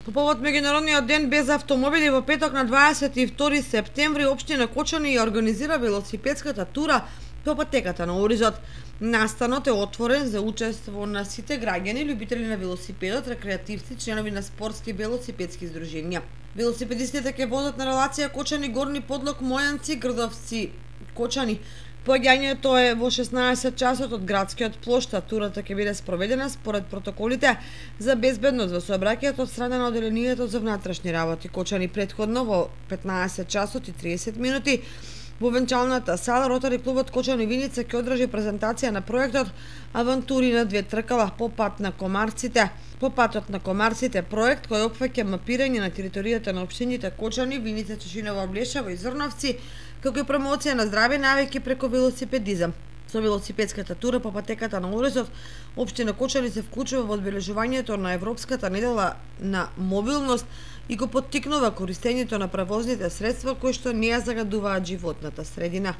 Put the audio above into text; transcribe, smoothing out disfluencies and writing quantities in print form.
По повод меѓународниот ден без автомобили во петок на 22 септември општина Кочани ја организира велосипедската тура по патеката на Оризот. Настанот е отворен за учество на сите граѓани, љубители на велосипедот, рекреативци, членови на спортски велосипедски здруженија. Велосипедистите ќе возат на релација Кочани Горни Подлог Мојанци Грдовци Кочани. Поаѓањето е во 16 часот од градскиот плошта. Турата ќе биде спроведена според протоколите за безбедност во сообраќајот од страна на Оделението за внатрешни работи Кочани. Претходно во 15 часот и 30 минути во венчалната сала Ротари клубот Кочани Виница ќе одржи презентација на проектот Авантури на две тркала по пат на Комарците. По патот на Комарците проект кој опфаќа мапирање на територијата на општините Кочани, Виница, Чешиново, Блешево и Зрновци, како и промоција на здрави навики преку велосипедизам. Со велосипедската тура по патеката на Оризот, општина Кочани се вклучува во одбележувањето на Европската недела на мобилност и го поттикнува користењето на превозните средства кои што не ја загадуваат животната средина.